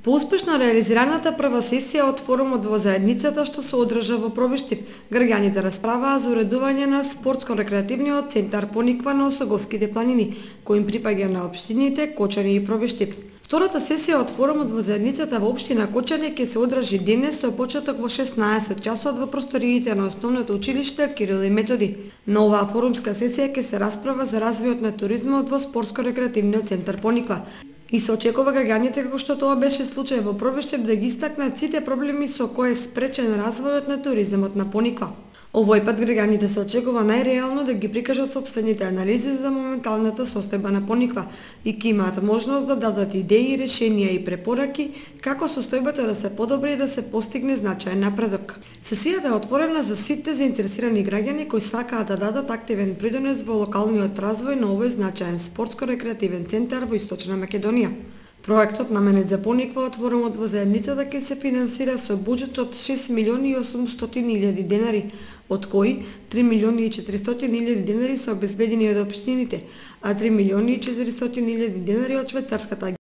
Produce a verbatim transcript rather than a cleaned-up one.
По успешно реализираната прва сесија од форумот во заедницата што се одржа во Пробиштип, граѓаните расправаа за уредување на спортско-рекреативниот центар Пониква на Осоговските планини, кој им припаѓа на општините Кочани и Пробиштип. Втората сесија од форумот во заедницата во општина Кочани ќе се одржи денес со почеток во шеснаесет часот во просториите на основното училиште Кирил и Методи. На оваа форумска сесија ќе се расправа за развојот на туризмот во спортско-рекреативниот центар Пониква. И се очекува граѓаните, како што тоа беше случај во Пробиштип, да ги истакнат сите проблеми со кои е спречен развојот на туризмот на Пониква. Овој пат граѓаните се очекува најреално да ги прикажат сопствените анализи за моменталната состојба на Пониква и ќе имаат можност да дадат идеи, решенија и препораки како состојбата да се подобри и да се постигне значаен напредок. Сесијата е отворена за сите заинтересирани граѓани кои сакаат да дадат активен придонес во локалниот развој на овој значаен спортско-рекреативен центар во Источна Македонија. Проектот наменет за Пониква од форумот во заедницата ќе се финансира со буџет од шест милиони и осумстотини илјади денари, од кои три милиони и четиристотини илјади денари се обезбедени од општините, а три милиони и четиристотини илјади денари од швајцарската